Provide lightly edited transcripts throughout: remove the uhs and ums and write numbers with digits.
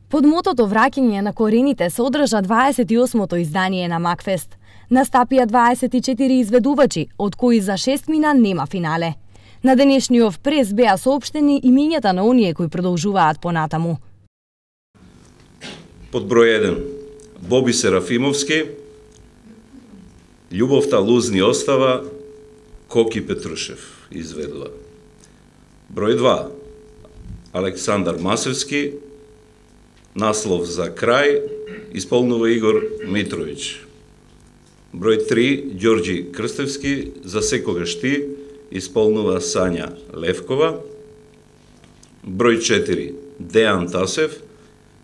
Под мотото враќање на корените се одржа 28-то издание на Макфест. Настапија 24 изведувачи, од кои за 6 мина нема финале. На денешниот прес беа соопштени имињата на оние кои продолжуваат понатаму. Под број 1 Боби Серафимовски, Љубовта лузни остава, Коки Петрушев изведува. Број 2 Александар Масевски, наслов за крај, исполнува Игор Митровиќ. Број 3 Ѓорѓи Крстевски, За секогаш ти, исполнува Сања Левкова. Број 4 Дејан Тасев,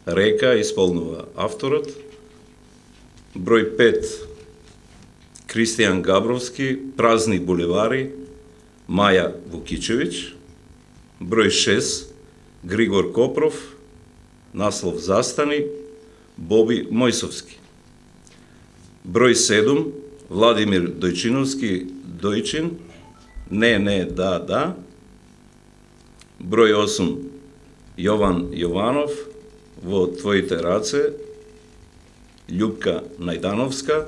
Река, исполнува авторот. Број 5 Кристијан Габровски, Празни буливари, Маја Вукичевиќ. Број 6 Григор Копров, наслов Застани, Боби Мојсовски. Број 7 Владимир Дојчиновски, Дојчин, Не, да. Број 8 Јован Јованов, Во твоите раце, Љупка Најдановска.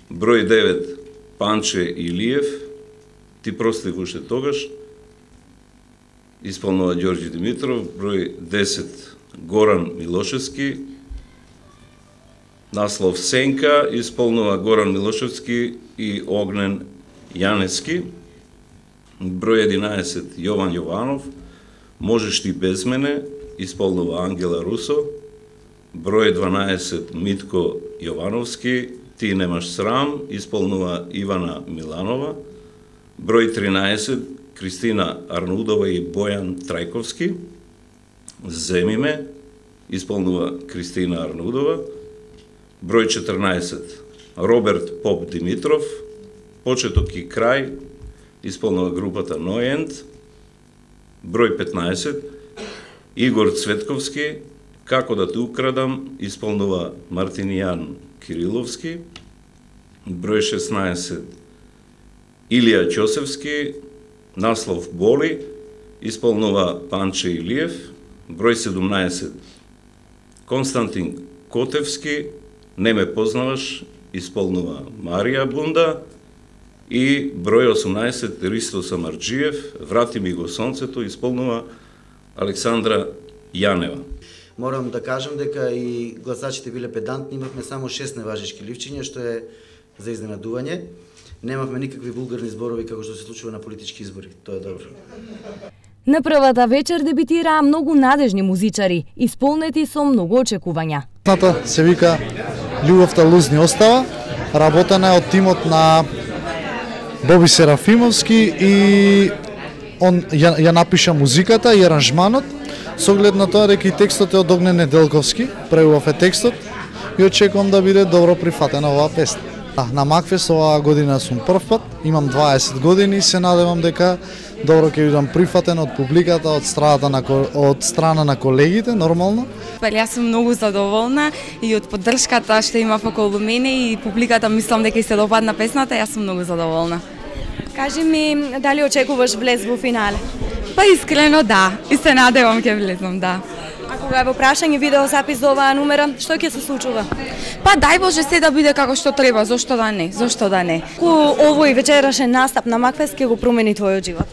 Број 9 Панче Илиев, Ти простив уште тогаш, исполнува Ѓорѓи Димитров. Број 10 Горан Милошевски, наслов Сенка, исполнува Горан Милошевски и Огнен Јанески. Број 11 Јован Јованов, Можеш ти без мене, исполнува Ангела Русо. Број 12 Митко Јовановски, Ти немаш срам, исполнува Ивана Миланова. Број 13 Кристина Арнудова и Бојан Трајковски, Земи ме, исполнува Кристина Арнудова. Број 14 Роберт Поп Димитров, Почеток и крај, исполнува групата Нојент. Број 15 Игор Цветковски, Како да те украдам, исполнува Мартинијан Кириловски. Број 16 Илија Ќосевски, наслов Боли, исполнува Панче Илиев. Број 17 Константин Котевски, Не ме познаваш, исполнува Марија Бунда. И број 18 Ристо Самарџиев, Врати ми го сонцето, исполнува Александра Јанева. Морам да кажам дека и гласачите биле педантни, имавме само 6 неважечки ливчиња, што е за изненадување. Немавме никакви вулгарни зборови како што се случува на политички избори. Тоа е добро. На првата вечер дебитираа многу надежни музичари, исполнети со многу очекувања. Песната се вика Љубовта лузни остава, работена е од тимот на Боби Серафимовски и он ја напиша музиката и аранжманот, со оглед на тоа дека и текстот е од Огнен Неделковски, преубав е текстот и очекувам да биде добро прифатена оваа песна. На Макфест оваа година сум прв пат, имам 20 години и се надевам дека добро ќе бидам прифатен од публиката, од страна на колегите, нормално. Јас сум многу задоволна и од поддршката што има околу мене и публиката, мислам дека и се допадна песната, јас сум многу задоволна. Кажи ми, дали очекуваш влез во финале? Па искрено да, и се надевам ќе влезам, да. А кога е во прашање видеозапис за оваа номера, што ќе се случува? Па дај Боже се да биде како што треба, зошто да не, зошто да не. Овој вечерашен настап на Макфест ќе го промени твојот живот?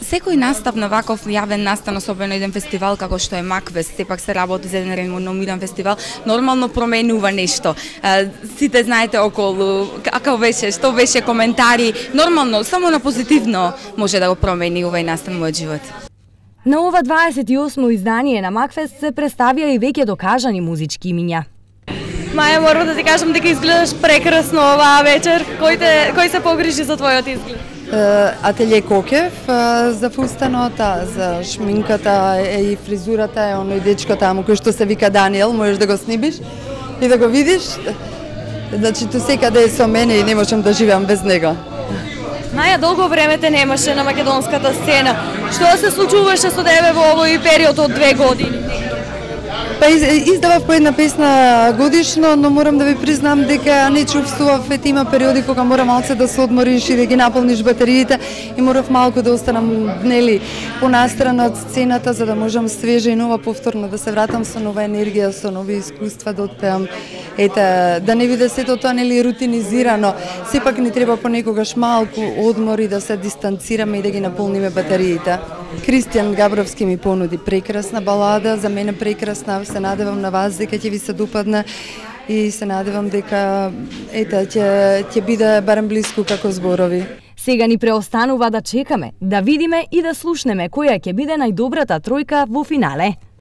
Секој настап на ваков јавен настан, особено еден фестивал како што е Макфест, сепак се работи за еден реномиран фестивал, нормално променува нешто. Сите знаете околу како беше, што беше коментари, нормално, само на позитивно може да го промени овој настан мојот живот. На ова 28-о издание на Макфест се представија и веќе докажани музички имиња. Маја, морам да ти кажам дека изгледаш прекрасно оваа вечер. Кој се погрижи за твојот изглед? Ателје Кокев за фустанот, за шминката и фризурата е оној дечко таму кој што се вика Даниел, можеш да го снимиш и да го видиш. Значи ту секаде е со мене и не можам да живеам без него. Маја, долго време те немаше на македонската сцена. Што се случуваше со тебе во овој период од 2 години? Па издавав по една песна годишно, но морам да ви признам дека не чувствував, има периоди кога мора малце да се одмориш и да ги наполниш батериите и морав малку да останам понастрана од сцената за да можам свежа и нова повторно да се вратам со нова енергија, со нови искуства да отпеам. Да не биде сето тоа рутинизирано. Сепак ни треба понекогаш малку одмор и да се дистанцираме и да ги наполниме батериите. Кристијан Габровски ми понуди прекрасна балада, за мене прекрасна, се надевам на вас дека ќе ви се допадне и се надевам дека ќе биде барем близко како зборови. Сега ни преостанува да чекаме, да видиме и да слушнеме која ќе биде најдобрата тројка во финале.